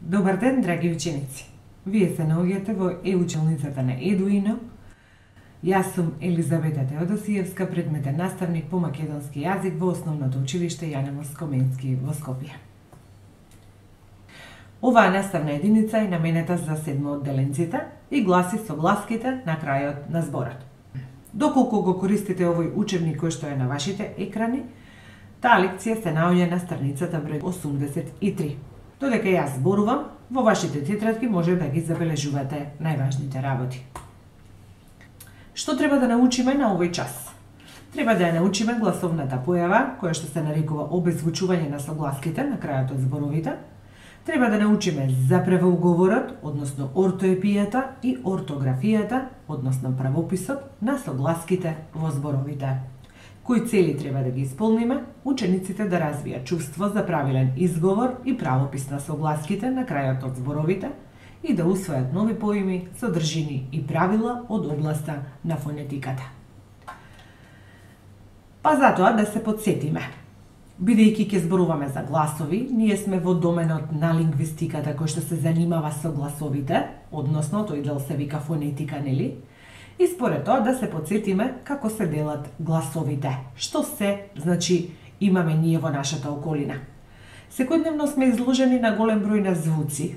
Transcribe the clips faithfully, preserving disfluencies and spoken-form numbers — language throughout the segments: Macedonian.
Добар ден, драги ученици! Вие се наоѓате во е-училницата на Едуино. Јас сум Елизавета Теодосиевска, предметен наставник по македонски јазик во Основното училиште Јане Москоменски во Скопје. Оваа наставна единица е наменета за седмо одделенците и гласи согласките на крајот на зборот. Доколку го користите овој учебник кој што е на вашите екрани, таа лекција се наоѓа на страницата број осумдесет и три. Додека јас зборувам, во вашите тетрадки може да ги забележувате најважните работи. Што треба да научиме на овој час? Треба да ја научиме гласовната појава, која што се нарекува обезвучување на согласките на крајот од зборовите. Треба да научиме за правоуговорот, односно ортоепијата и ортографијата, односно правописот на согласките во зборовите. Кои цели треба да ги исполниме, учениците да развијат чувство за правилен изговор и правопис на согласките на крајот од зборовите и да усвојат нови поими, содржини и правила од областа на фонетиката. Па затоа да се подсетиме. Бидејќи ќе зборуваме за гласови, ние сме во доменот на лингвистиката кој што се занимава со гласовите, односно тој дел се вика фонетика, нели? И според тоа да се подсетиме како се делат гласовите. Што се, значи, имаме ние во нашата околина. Секојдневно сме изложени на голем број на звуци.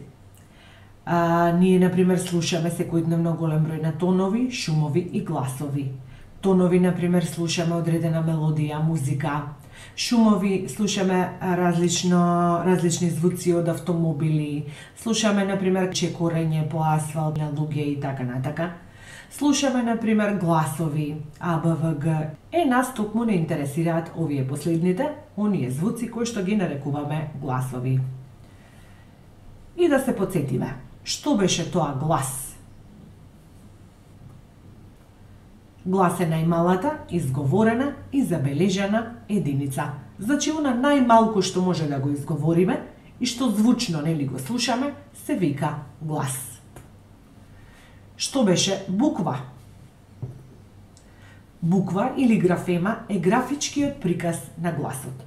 А, ние, например, слушаме секојдневно голем број на тонови, шумови и гласови. Тонови, например, слушаме одредена мелодија, музика. Шумови слушаме различно, различни звуци од автомобили. Слушаме, например, чекорење по асфалт на луѓе и така натака. Слушаме, например, гласови, А, Б, В, Г. Е, нас токму не интересираат овие последните, оние звуци кои што ги нарекуваме гласови. И да се подсетиме, што беше тоа глас? Глас е најмалата, изговорена и забележана единица. Значи, она најмалку што може да го изговориме и што звучно нели го слушаме, се вика глас. Што беше буква? Буква или графема е графичкиот приказ на гласот.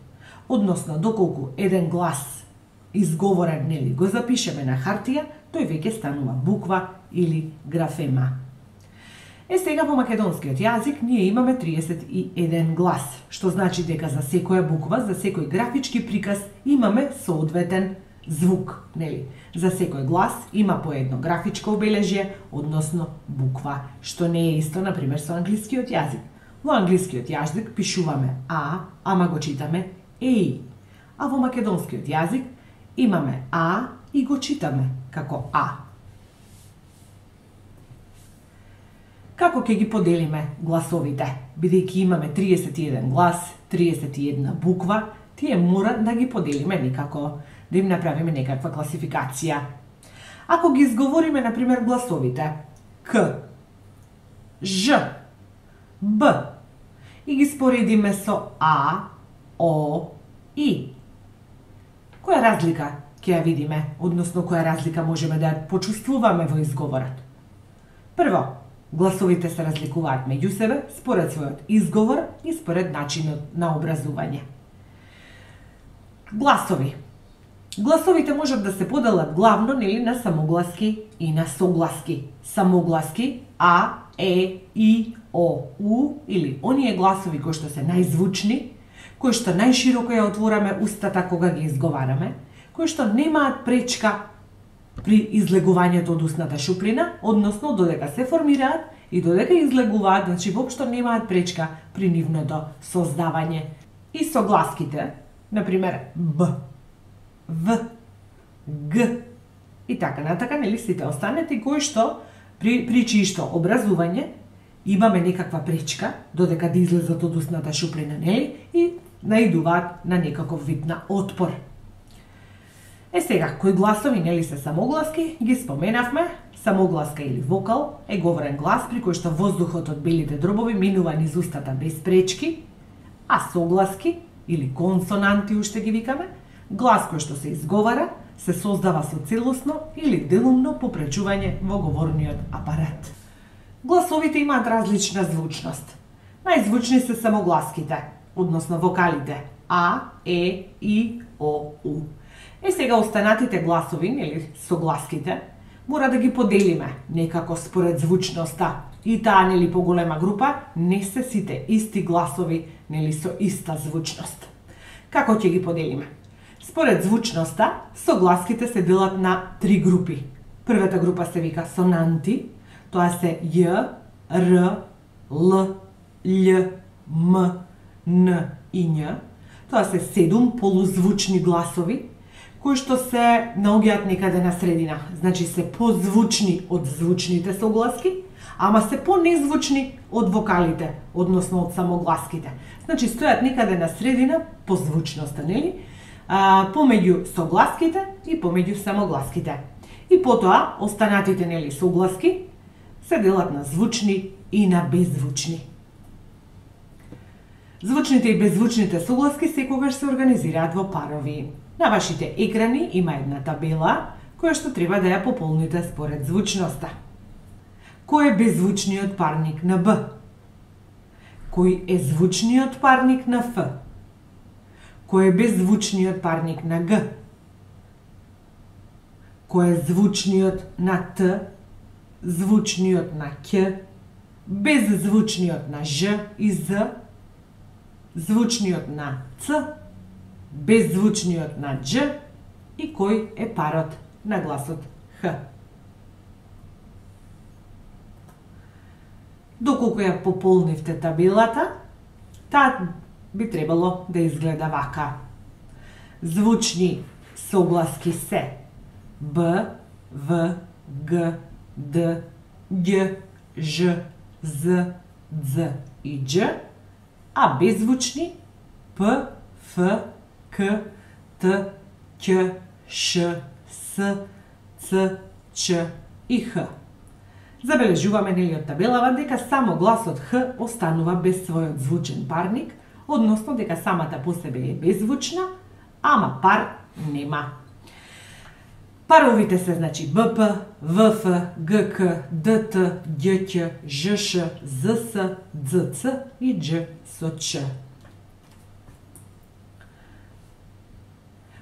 Односно, доколку еден глас изговорен нели го запишеме на хартија, тој веќе станува буква или графема. Е, сега во македонскиот јазик ние имаме триесет и еден глас, што значи дека за секоја буква, за секој графички приказ имаме соодветен звук, нели? За секој глас има по едно графичко обележје, односно буква, што не е исто, например, со англискиот јазик. Во англискиот јазик пишуваме А, ама го читаме Еј. А во македонскиот јазик имаме А и го читаме како А. Како ќе ги поделиме гласовите? Бидејќи имаме триесет и еден глас, триесет и една буква, тие мора да ги поделиме некако, да им направиме некаква класификација. Ако ги изговориме, например, гласовите К, Ж, Б и ги споредиме со А, О, И, која разлика ќе ја видиме, односно која разлика можеме да ја почувствуваме во изговорот? Прво, гласовите се разликуваат меѓу себе според својот изговор и според начинот на образување. Гласови. Гласовите можат да се поделат главно нели на самогласки и на согласки. Самогласки А, Е, И, О, У или оние гласови кои што се најзвучни, кои што најшироко ја отвораме устата кога ги изговараме, кои што немаат пречка при излегувањето од устната шуприна, односно додека се формираат и додека излегуваат, значи воопшто немаат пречка при нивното создавање. И согласките, например Б, В, Г и така натака, нели сите останети кои што при, при чиишто образување имаме некаква пречка додека да излезат од устната шуприна, нели, и наидуваат на некаков вид на отпор. Е сега, кои гласови нели се самогласки, ги споменавме. Самогласка или вокал е говорен глас при кој што воздухот од белите дробови минува низ устата без пречки, а согласки или консонанти уште ги викаме, глас кој што се изговара, се создава со целосно или делумно попречување во говорниот апарат. Гласовите имаат различна звучност. Најзвучни се самогласките, односно вокалите А, Е, И, О, У. Е сега останатите гласови, или согласките, мора да ги поделиме некако според звучноста. И таа, нели, поголема група, не се сите исти гласови, нели, со иста звучност. Како ќе ги поделиме? Според звучноста, согласките се делат на три групи. Првата група се вика сонанти, тоа се Ј, Р, Л, Л, М, Н и Њ. Тоа се седум полузвучни гласови, кои што се наоѓаат некаде на средина. Значи се позвучни од звучните согласки, ама се понезвучни од вокалите, односно од самогласките. Значи стојат некаде на средина по звучноста, нели? А, помеѓу согласките и помеѓу самогласките. И потоа останатите, нели, согласки се делат на звучни и на беззвучни. Звучните и беззвучните согласки секогаш се организираат во парови. На вашите екрани има една табела која што треба да ја пополните според звучноста. Кој е беззвучниот парник на Б? Кој е звучниот парник на Ф? Кој е беззвучниот парник на Г? Кој е звучниот на Т? Звучниот на Ќ? Беззвучниот на Ж и З? Звучниот на Ц? Беззвучниот на Дж и кој е парот на гласот Х. Доколку ја пополнивте табелата, таа би требало да изгледа вака. Звучни согласки се Б, В, Г, Д, Ѓ, Ж, З, Дз и Дж, а беззвучни П, Ф, К, Т, Ќ, Ш, С, Ц, Ч и Х. Забележуваме, нели, од табелава дека само гласот Х останува без својот звучен парник, односно дека самата по себе е беззвучна, ама пар нема. Паровите се, значи, Б П, В Ф, Г К, Д Т, Ѓ Ќ, Ж Ш, З С, Дз Ц и Дж со Ч.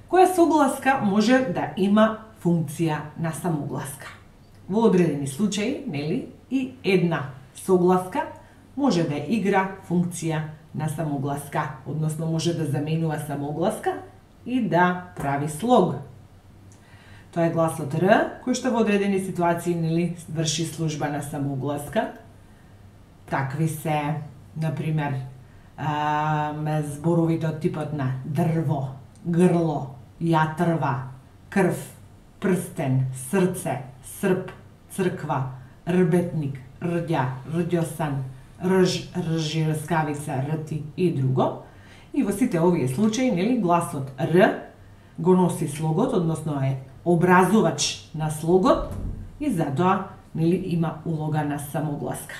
Која согласка може да има функција на самогласка? Во одредени случаи, нели, и една согласка може да игра функција на самогласка, односно може да заменува самогласка и да прави слог. Тоа е гласот Р, кој што во одредени ситуации, нели, врши служба на самогласка. Такви се, например, зборовите од типот на дрво, грло, јатрва, крв, прстен, срце, срп, црква, рбетник, рѓа, рѓосан, рж, ржи, рскавица, рти и друго. И во сите овие случаи, нели, гласот Р го носи слогот, односно е образувач на слогот и затоа, нели, има улога на самогласка.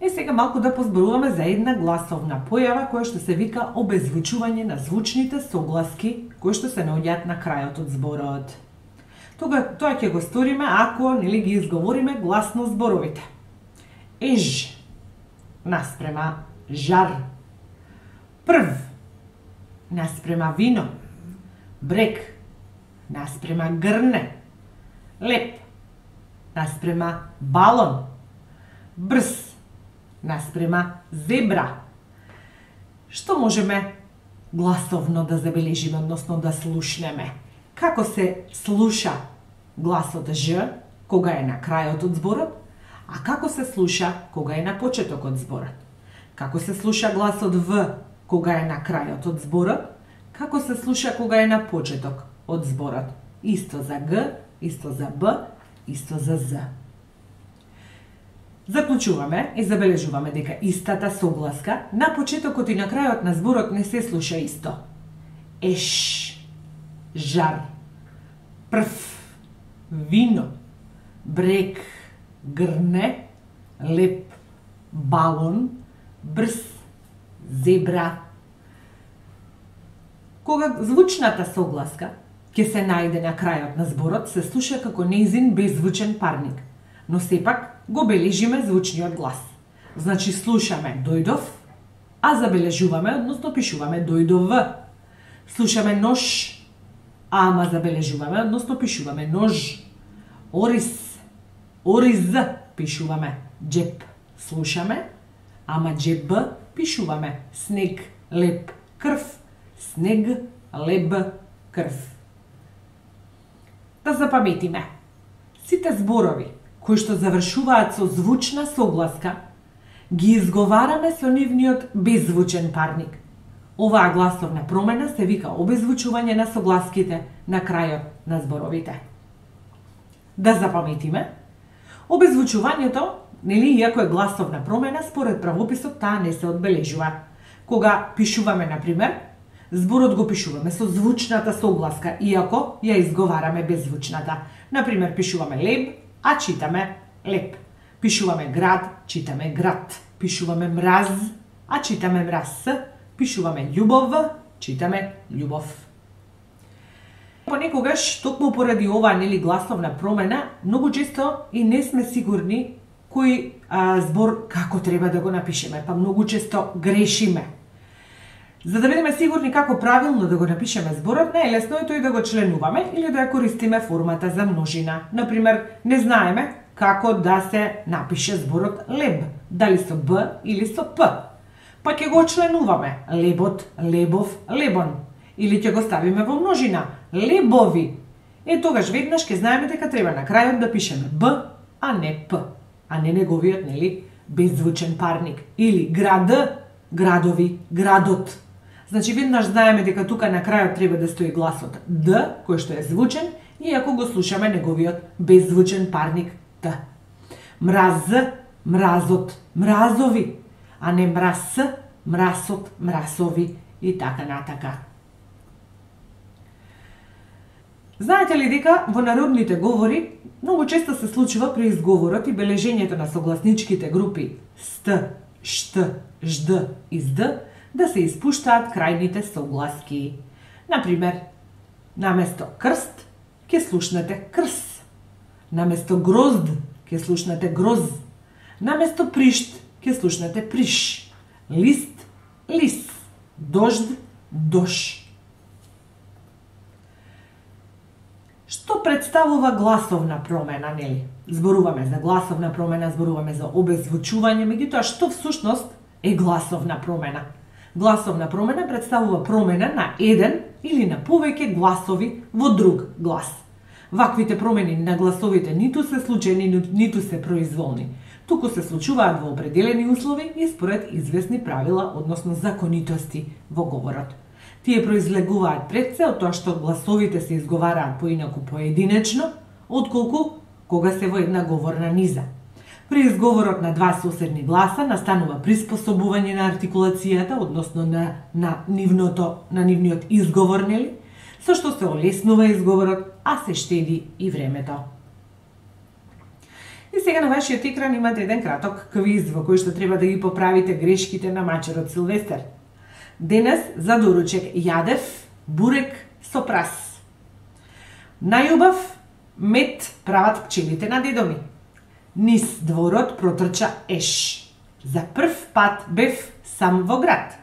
Е, сега малку да позборуваме за една гласовна појава која што се вика обезвучување на звучните согласки кои што се наоѓаат на крајот од зборот. Тога тоа ќе го сториме ако, нели, ги изговориме гласно зборовите. Еж наспрема жар, прв наспрема вино, брег наспрема грне, леп наспрема балон, брз наспрема зебра. Што можеме гласовно да забележиме, односно да слушнеме? Како се слуша гласот Ж кога е на крајот од зборот, а како се слуша кога е на почеток од зборот? Како се слуша гласот В кога е на крајот од зборот? Како се слуша кога е на почеток од зборот? Исто за Г, исто за Б, исто за З. Заклучуваме и забележуваме дека истата согласка на почетокот и на крајот на зборот не се слуша исто. Еш, жар, прв, вино, брег, грне, леп, балон, брз, зебра. Кога звучната согласка ќе се најде на крајот на зборот, се слуша како нејзин беззвучен парник, но сепак го бележиме звучниот глас. Значи слушаме дојдов, а забележуваме, односно пишуваме дојдов. Слушаме нож, ама забележуваме, односно пишуваме нож. Ориз, ориз, пишуваме. Джеп, слушаме, ама джеб, пишуваме. Снег, леп, крв. Снег, леб, крв. Да запаметиме. Сите зборови кои што завршуваат со звучна согласка, ги изговараме со нивниот беззвучен парник. Оваа гласовна промена се вика обезвучување на согласките на крајот на зборовите. Да запаметиме, обезвучувањето, нели, иако е гласовна промена, според правописот таа не се одбележува. Кога пишуваме, например, зборот го пишуваме со звучната согласка, иако ја изговараме беззвучната. Например, пишуваме леб, а читаме леп. Пишуваме град, читаме град. Пишуваме мраз, а читаме мраз. Пишуваме љубов, читаме љубов. Понекогаш, токму поради оваа нели гласовна промена, многу често и не сме сигурни кој а, збор како треба да го напишеме, па многу често грешиме. За да бидеме сигурни како правилно да го напишеме зборот, најлесно е тој да го членуваме или да ја користиме формата за множина. Например, не знаеме како да се напише зборот леб, дали со б или со п. Па ќе го членуваме лебот, лебов, лебон. Или ќе го ставиме во множина лебови. Е тогаш веднаш ќе знаеме дека треба на крајот да пишеме б, а не п, а не неговиот, нели, беззвучен парник. Или град, градови, градот. Значи веднаш знаеме дека тука на крајот треба да стои гласот д, кој што е звучен, иако го слушаме неговиот беззвучен парник т. Мраз, мразот, мразови, а не мраз, мрасот, мрасови и така натака. Знаете ли дека во народните говори многу често се случува при изговорот и бележењето на согласничките групи ст, шт, жд и зд да се испуштаат крајните согласки. Например, наместо крст ќе слушнете крс, наместо грозд ќе слушнете гроз, наместо пришт ќе слушнете приш, лист, лис, дожд, дош. Што представува гласовна промена, нели? Зборуваме за гласовна промена, зборуваме за обезвучување, меѓутоа што всушност е гласовна промена? Гласовна промена представува промена на еден или на повеќе гласови во друг глас. Ваквите промени на гласовите ниту се случајни, ниту се произволни, туку се случуваат во определени услови и според известни правила, односно законитости во говорот. Тие произлегуваат пред се од тоа што гласовите се изговараат поинаку поединечно, отколку кога се во една говорна низа. При изговорот на два соседни гласа настанува приспособување на артикулацијата, односно на, на, нивното, на нивниот изговор, нели? Со што се олеснува изговорот, а се штеди и времето. И сега на вашиот екран имате еден краток квиз во кој што треба да ги поправите грешките на мачерот Силвестер. Денес за доручек јадев бурек со прас. Најубав мед прават пчелите на дедо ми. Низ дворот протрча еш. За прв пат бев сам во град.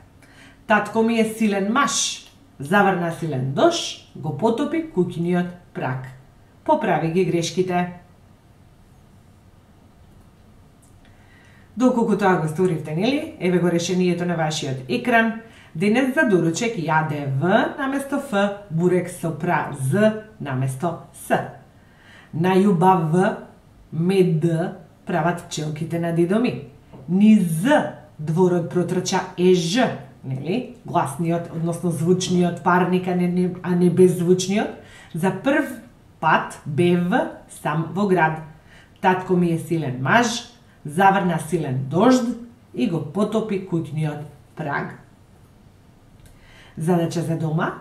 Татко ми е силен маж. Заврна силен дош, го потопи куќиниот праг. Поправи ги грешките. Доколку тоа го сторивте, нели? Еве го решението на вашиот екран. Денес за доручек јаде В наместо Ф, бурек со пра З наместо С. Најубав мед прават пчелките на дедо ми. Низ дворот протрча еж, нели? Гласниот, односно звучниот парник, а не, а не беззвучниот. За прв пат бев сам во град. Татко ми е силен маж, заврна силен дожд и го потопи куќниот праг. Задача за дома.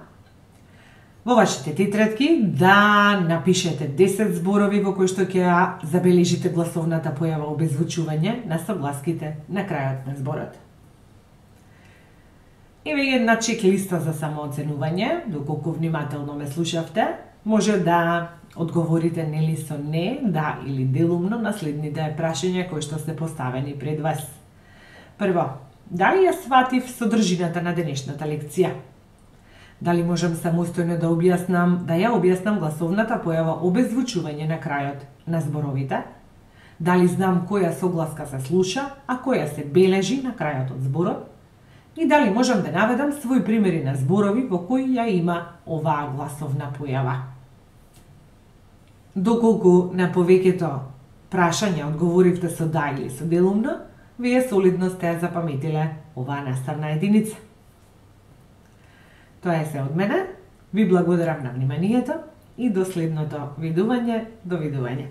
Во вашите тетрадки да напишете десет зборови во кои што ќе забележите гласовната појава обезвучување на согласките на крајот на зборот. Еве една чек-листа за самооценување, доколку внимателно ме слушавте, може да одговорите нели со не, да или делумно на следните прашања кои што се поставени пред вас. Прво, дали ја сватив содржината на денешната лекција? Дали можам самостојно да објаснам, да ја објаснам гласовната појава обезвучување на крајот на зборовите? Дали знам која согласка се слуша, а која се бележи на крајот од зборот? И дали можам да наведам свој примери на зборови во кои ја има оваа гласовна појава? Доколку на повеќето прашања одговоривте со да или со делумно, вие солидно сте запаметиле оваа наставна единица. Тоа е се од мене. Ви благодарам на вниманието и до следното видување. Довидување.